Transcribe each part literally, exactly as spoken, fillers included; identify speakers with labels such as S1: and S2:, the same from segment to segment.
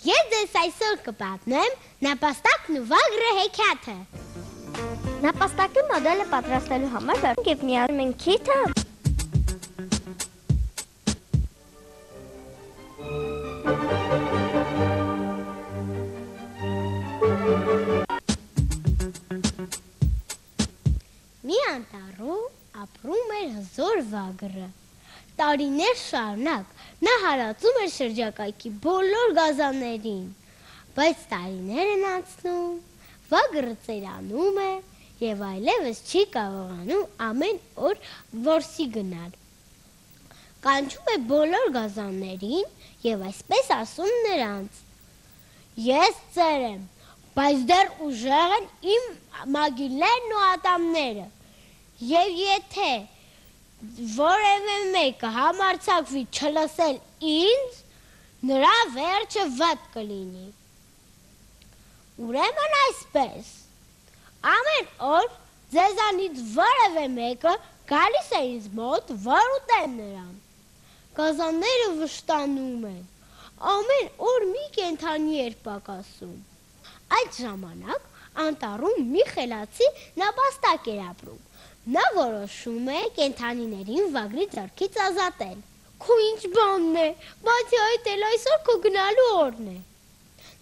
S1: Ես ձեզ այսօր կպատմեմ նապաստակն ու վագրը հեքիաթը։
S2: Նապաստակի մոդելը պատրաստելու համար բերենք և միացնում ենք քիթը,
S1: մի անտառում ապրում էր հզոր վագրը։ Տարիներ շարունակ նա հարածում էր շրջակայքի բոլոր գազաններին, բայց տարիներ են անցնում, վագրը ծերանում է և այլևս չի կարողանում ամեն օր որսի գնալ։ Կանչում է բոլոր գազաններին և այսպես ասում նրանց. «Ես ծեր եմ, բայց դեռ ուժեղ են իմ մագիլներն ու ատամները, և եթե որևէ մեկը համարձակվի չլսել ինձ, նրա վերջը վատ կլինի»։ Ուրեմն այսպես, ամեն օր ձեզանից որևէ մեկը գալիս է ինձ մոտ, որ ուտեմ նրան։ Գազանները վշտանում են, ամեն օր մի կենդանի էր պակասում։ Այդ ժամանակ անտառում մի խելացի նապաստակ էր ապրում։ Նա որոշում է կենդանիներին վագրի ձեռքից ազատել։ «Քո ինչ բանն է, բացի այդ էլ այսօր քո գնալու օրն է»։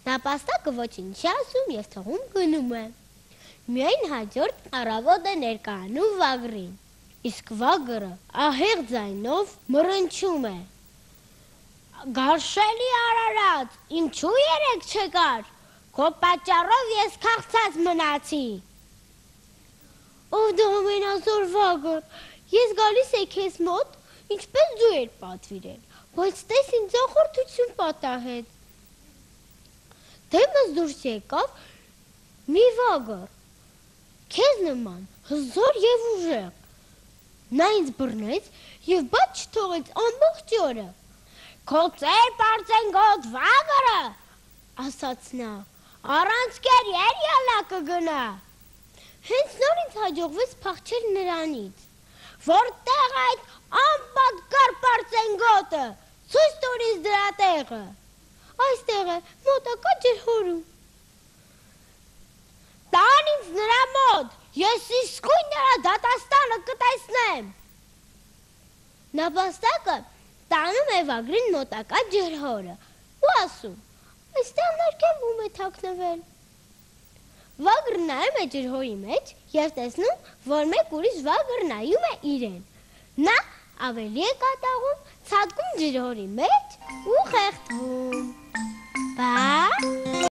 S1: Նապաստակը ոչինչ չի ասում և թողում գնում է։ Միայն հաջորդ առավոտ է ներկայանում վագրին, իսկ վագրը ահեղ ձայնով մռնչում է. «Գարշելի Արարած, ինչու երեկ չեկար, քո պատճառով ես քաղցած մնացի»։ «Ով դու ամենազոր վագր, ես գալիս էի քեզ մոտ, ինչպես դու էր պատվիրել, բայց տես ինձ ախորդություն պատահեց»։ Դեմս դուրս եկավ մի վագր, քեզ նման հզոր և ուժեղ։ Նա ինձ բռնեց և բաց չթողեց ամբողջ օրը։ «Քո ծեր պարծենգոտ վագրը, ասաց նա, առանց կերիեր ելա կգնա»։ Հենց նոր ինձ հաջողվեց փախչել նրանից։ «Որտեղ այդ անպատկառ պարծենգոտը, ցույց տուր ինձ դրա տեղը»։ «Այստեղ է, մոտակա ջրհորում»։ «Տան ինձ նրա մոտ, ես իսկույն նրա դատաստանը կտեսնեմ»։ Նապաստակը տանում է վագրին մոտակա ջրհորը ու ասում. «Այստեղ ներքևում է թաքնվել»։ Վագրը նայում է ջրհորի մեջ և տեսնում, որ մեկ ուրիշ վագր նայում է իրեն։ Նա ավելի է կատաղում, ցատկում ջրհորի մեջ ու խեղդվում։ Բա